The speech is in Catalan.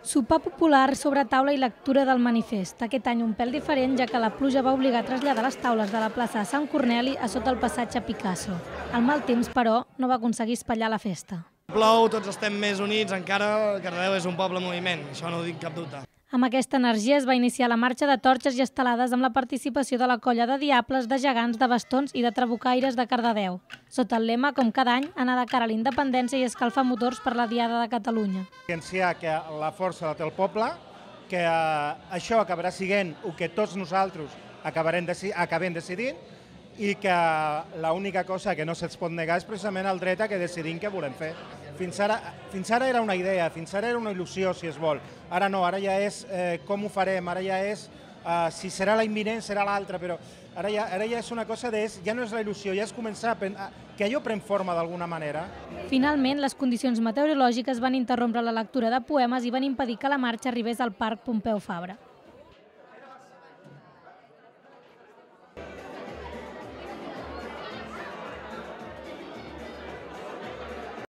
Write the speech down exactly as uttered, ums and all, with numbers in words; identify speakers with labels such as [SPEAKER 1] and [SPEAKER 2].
[SPEAKER 1] Sopar popular sobre taula i lectura del manifest. Aquest any un pèl diferent, ja que la pluja va obligar a traslladar les taules de la plaça de Sant Corneli a sota el passatge Picasso. El mal temps, però, no va aconseguir espatllar la festa.
[SPEAKER 2] Plou, tots estem més units, encara Cardedeu és un poble en moviment, això no ho dic cap dubte.
[SPEAKER 1] Amb aquesta energia es va iniciar la marxa de torxes i estelades amb la participació de la colla de diables, de gegants, de bastons i de trabucaires de Cardedeu. Sota el lema, com cada any, anar de cara a la independència i escalfar motors per la Diada de Catalunya.
[SPEAKER 3] Evidenciar que la força la té el poble, que això acabarà sent el que tots nosaltres acabarem acabem decidint i que l'única cosa que no se'ls pot negar és precisament el dret a que decidim què volem fer. Fins ara, fins ara era una idea, fins ara era una il·lusió, si es vol. Ara no, ara ja és eh, com ho farem, ara ja és eh, si serà la imminent, serà l'altra, però ara ja, ara ja és una cosa de, ja no és la il·lusió, ja és començar a, a que allò pren forma d'alguna manera.
[SPEAKER 1] Finalment, les condicions meteorològiques van interrompre la lectura de poemes i van impedir que la marxa arribés al Parc Pompeu Fabra.